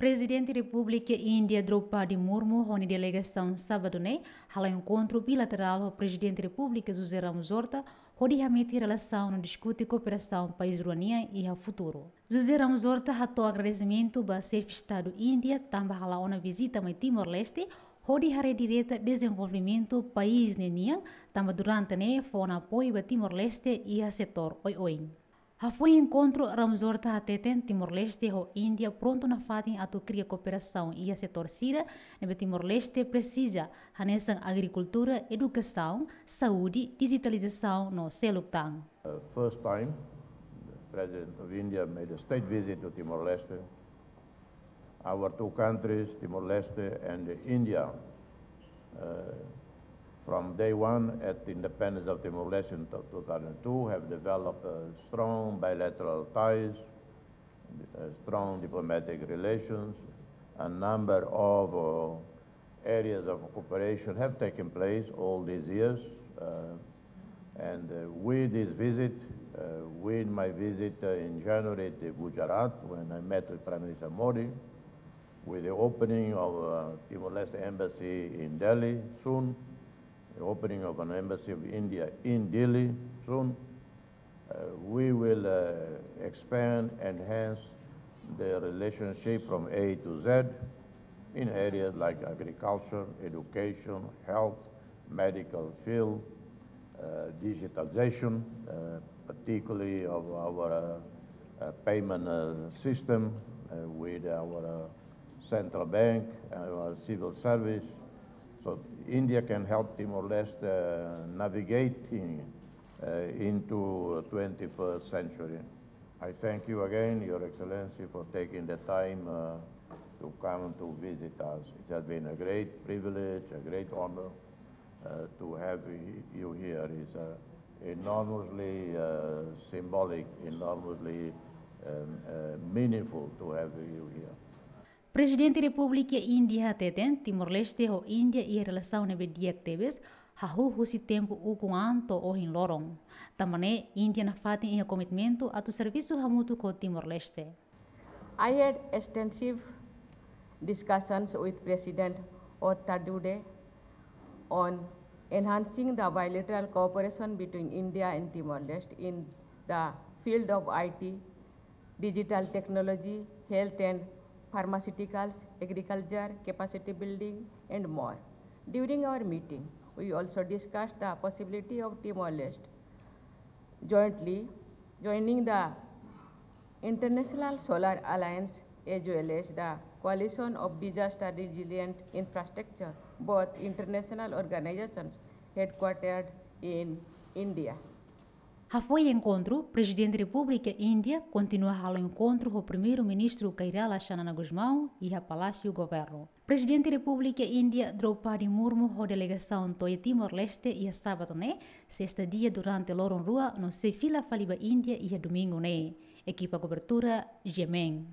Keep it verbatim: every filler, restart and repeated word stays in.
Prezidente Repúblika Índia Droupadi Murmu ho nia delegasaun sábadu ne'e hala'o enkontru bilaterál ho Prezidente Repúblika José Ramos Horta, hodi hametin relasaun no diskute kooperasaun país rua nian iha futuru. José Ramos Horta hato'o agradesimentu ba Xefe Estadu Índia tanba hala'o ona vizita mai Timor-Leste, hodi haree direta dezenvolvimentu país ne'e nian, tanba durante ne'e fó ona apoiu ba Timor-Leste iha setór oioin. Hafoin enkontru, Ramos Horta hateten Timor-Leste ho Índia prontu nafatin atu kria kooperasaun iha setór sira ne'ebé Timor-Leste presiza, hanesan agrikultura, edukasaun, saúde, dijitalizasaun no seluk tan. Uh, first time the President of India made a state visit to Timor-Leste. Our two countries, Timor-Leste and India, uh, from day one at the independence of Timor-Leste in two thousand two, have developed, uh, strong bilateral ties, uh, strong diplomatic relations. A number of, uh, areas of cooperation have taken place all these years. Uh, and, uh, with this visit, uh, with my visit, uh, in January to Gujarat, when I met with Prime Minister Modi, with the opening of, uh, Timor-Leste embassy in Delhi soon, the opening of an embassy of India in Delhi soon, uh, we will, uh, expand, enhance the relationship from A to Z in areas like agriculture, education, health, medical field, uh, digitalization, uh, particularly of our, uh, uh, payment, uh, system, uh, with our, uh, central bank, uh, our civil service. So India can help Timor-Leste, uh, navigating, uh, into twenty-first century. I thank you again, Your Excellency, for taking the time, uh, to come to visit us. It has been a great privilege, a great honor, uh, to have y-, you here. It's, uh, enormously, uh, symbolic, enormously, um, uh, meaningful to have you here. Prezidente Repúblika Índia hateten Timor-Leste ho Índia iha relasaun ne'ebé di'ak tebes, hahú husi tempu ukun an to'o ohin loron. Tanba ne'e, Índia nafatin iha komitmentu atu servisu hamutuk ho Timor-Leste. I had extensive discussions with President Horta today on enhancing the bilateral cooperation between India and Timor-Leste in the field of I T, digital technology, health and pharmaceuticals, agriculture, capacity building, and more. During our meeting, we also discussed the possibility of Timor-Leste jointly joining the International Solar Alliance as well as the Coalition of Disaster Resilient Infrastructure, both international organizations headquartered in India. Hafoin enkontru, Prezidente Repúblika Índia kontinua hala'o enkontru ho Primeiru-Ministru Kay Rala Xanana Gusmão iha Palásiu Governu. Prezidente Repúblika Índia Droupadi Murmu ho delegasaun to'o Timor-Leste iha sábadu ne'e, sei estadia durante loron rua no sei fila fali ba Índia iha domingu ne'e. Ekipa kobertura, G M N.